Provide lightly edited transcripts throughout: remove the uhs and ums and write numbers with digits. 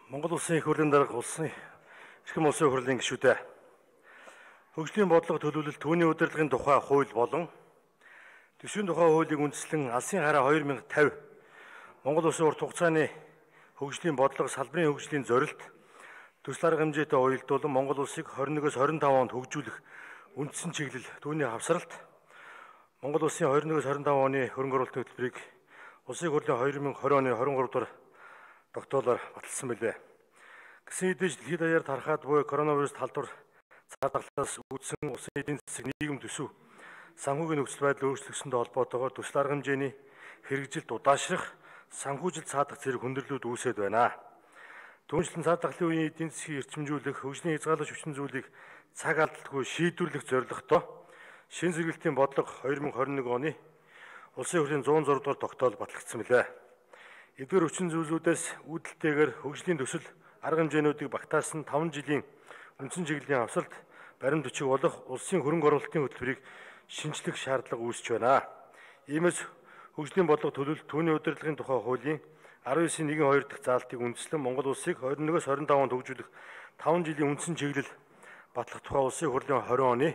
Монгол улсын их хурлын дарга улсын эрхэм улсын хурлын гишүүдээ хөгжлийн бодлого төлөвлөлт түүний удирдлагын тухай хууль болон төсвийн тухай хуулийг үндэслэн алсын хараа 2050 Монгол улсын урт хугацааны хөгжлийн бодлого салбарын хөгжлийн зорилт төсөл арга хэмжээтэй уялдуулан Монгол улсыг 21-с 25 онд хөгжүүлэх үндсэн чиглэл түүний хавсралт Монгол улсын 21-с 25 оны хөрөнгө оруулалтын хөтөлбөрийг улсын хурлын 2020 оны 23 дугаар тогтоолоор баталсан билээ. Гэсэн хэдий дэлхийд даяар тархаад буй коронавирус талдвар цар тахлаас үүдсэн улсын эдийн засаг нийгэм төсөв санхүүгийн нөхцөл байдал өөрчлөгсөнтэй холбоотойгоор төсөл арга хэмжээний хэрэгжилт удаашрах санхүүжилт цаадах зэрэг хүндрэлүүд үүсэт байна. Түүнчлэн цар тахлын үеийн эдийн засгийг эрчимжүүлэх, хөгжлийн хязгаарлаж хүчин зүйлийг цаг алдалгүй шийдвэрлэх зорилготой шинэ зэрэгэлтийн бодлого 2021 оны улсын хурлын 106 дугаар тогтоол батлагдсан билээ. Эдгээр хүчин зүйлүүдээс үүдэлтэйгээр хөгжлийн төсөл арга хэмжээнүүдийг багтаасан 5 жилийн үндсэн чиглэлийн хавсалт баримт бичиг болох улсын хөрөнгө оруулалтын хөтөлбөрийг шинжлэх шаардлага үүсэж байна. Иймээс хөгжлийн бодлого төлөвлөлт түүний удирдлагын тухай хуулийн 19.1.2 дахь заалтыг үндэслэн Монгол улсыг 21-с 25 онд хөгжүүлэх 5 жилийн үндсэн чиглэл батлах тухай улсын хурлын 20 оны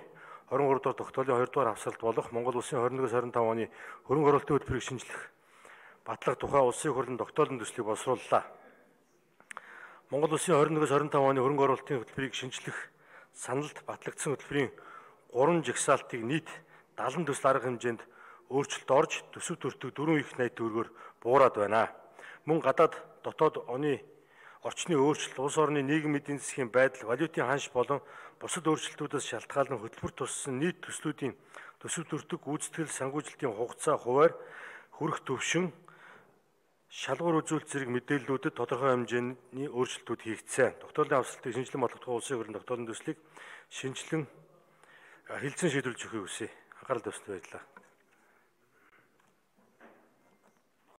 23 дугаар тогтоолын 2 дугаар хавсалт болох Монгол улсын 21-с 25 оны хөрөнгө оруулалтын хөтөлбөрийг шинжлэх батлах тухай улсын хурлын тогтоолын төслийг боловсрууллаа. Монгол улсын 21-с 25 оны хөрөнгө оруулалтын хөтөлбөрийг шинжлэх саналд батлагдсан хөтөлбөрийн 3 жагсаалтыг нийт 70 төсөл арга хэмжээнд өөрчлөлт орж төсөв төртөг 4 их найт төгрөгөөр буураад байна. Мөн гадаад дотоод оны орчны өөрчлөлт, улс орны нийгэм эдийн засгийн байдал, валютын ханш болон бусад өөрчлөлтүүдээс шалтгаалan хөтөлбөр туссан нийт төслүүдийн төсөв төртөг гүйцэтгэл санхүүжилтийн хугацаа хуваар хүрэх төвшин шалгуур үзүүлэлт зэрэг мэдээллүүдэд тодорхой хэмжээний өөрчлөлтүүд хийгдсэн. Тогтоолын хавсалтыг шинжилэн бодлого улсын хурлын тогтоолын төслийг шинжилэн хэлцэн шийдвэрлэж өгөхийг хүсье. Анхаарал тавьсанд баярлалаа.